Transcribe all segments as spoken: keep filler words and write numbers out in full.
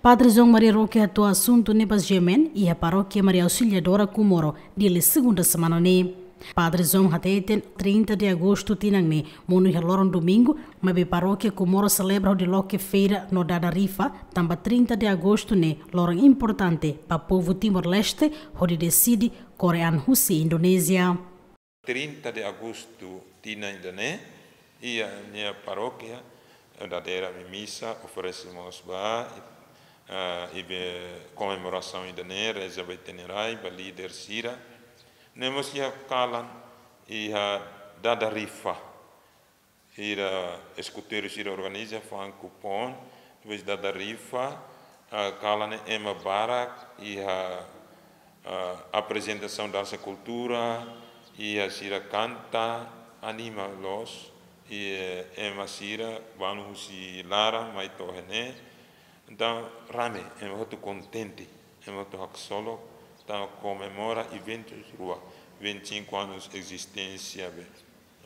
Padre João Maria Roque hato'o asuntu ne'e ba G M N iha Parókia Maria Auxiliadora Comoro, Dili, segunda semana ne'e. Padre João hateten trinta de agostu tinan ne'e monu iha loron domingu, maibé Parókia Comoro selebra hodi loke feira no dada rifa, tanba trinta de agostu ne'e loron importante ba povu Timor-Leste, hodi deside kore an husi Indonézia. Trinta de agostu tinan ida-ne'e, iha nia parókia, eh, dadeer ami misa, oferese mós ba, eh, iha komemorasaun ida-ne'e, reza ba ita-nia rai, ba líder sira. Ne'e mós iha kalan, iha dada rifa. Sira eskuteiru sira organiza fa'an kupon, depois dada rifa, ah, kalan ne'e ema barak, iha, ah, aprezentasaun dansa kultura, iha sira kanta, anima loos, i, eh, ema sira balu husi laran mai to'o iha ne'e. Entaun, rame, ema hotu kontente, ema hotu haksolok, entaun komemora eventus rua, vinte e cinco anos ezisténsia be,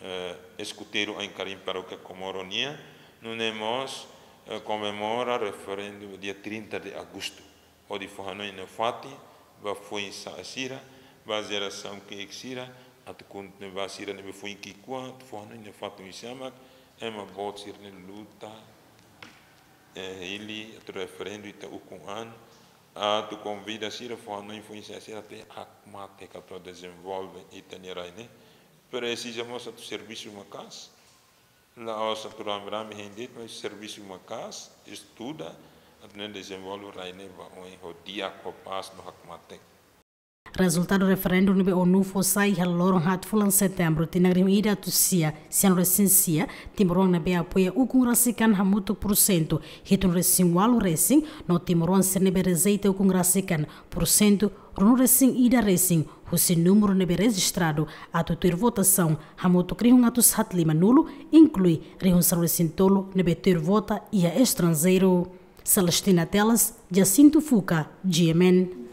eh, eskuteiru Ain Karim Parókia Comoro nian, nune'e mós, eh, komemora referendu dia trinta de agostu. Hodi fó hanoin nafatin ba foin-sa'e sira, ba jerasaun ki'ik sira, atu kontinua ba sira ne'ebé foin ki'ikoan, atu fó hanoin nafatin husi ema, ema boot sira-nia luta, eh, hili atu referendu ita ukun an, atu konvida sira fó hanoin foin-sa'e sira atu hakmatek atu dezenvolve ita-nia rai ne'e. Presiza mós atu servisu maka'as. La'ós atu rame-rame hein de'it, mas servisu maka'as, estuda, atu nune'e dezenvolve rai ne'e ba oin ho di'ak, ho pás no hakmatek. Rezultadu referendu ne'ebé ONU fó sai iha loron haat fulan Setembru tinan rihun ida atus sia sianulu-resin-sia, timoroan ne'ebé apoia ukun rasik an hamutuk pursentu hitu-nulu-resin-ualu resin, no timoroan sira ne'ebé rejeita ukun rasik an pursentu ruanulu-resin-ida resin, husi númeru ne'ebé rejistradu atu tuir votasaun hamutuk rihun atus haat limanulu, inklui rihun sanulu-resin-tolu ne'ebé tuir vota iha estranjeiru. Celestina Teles, Jacinto Fuca, G M N.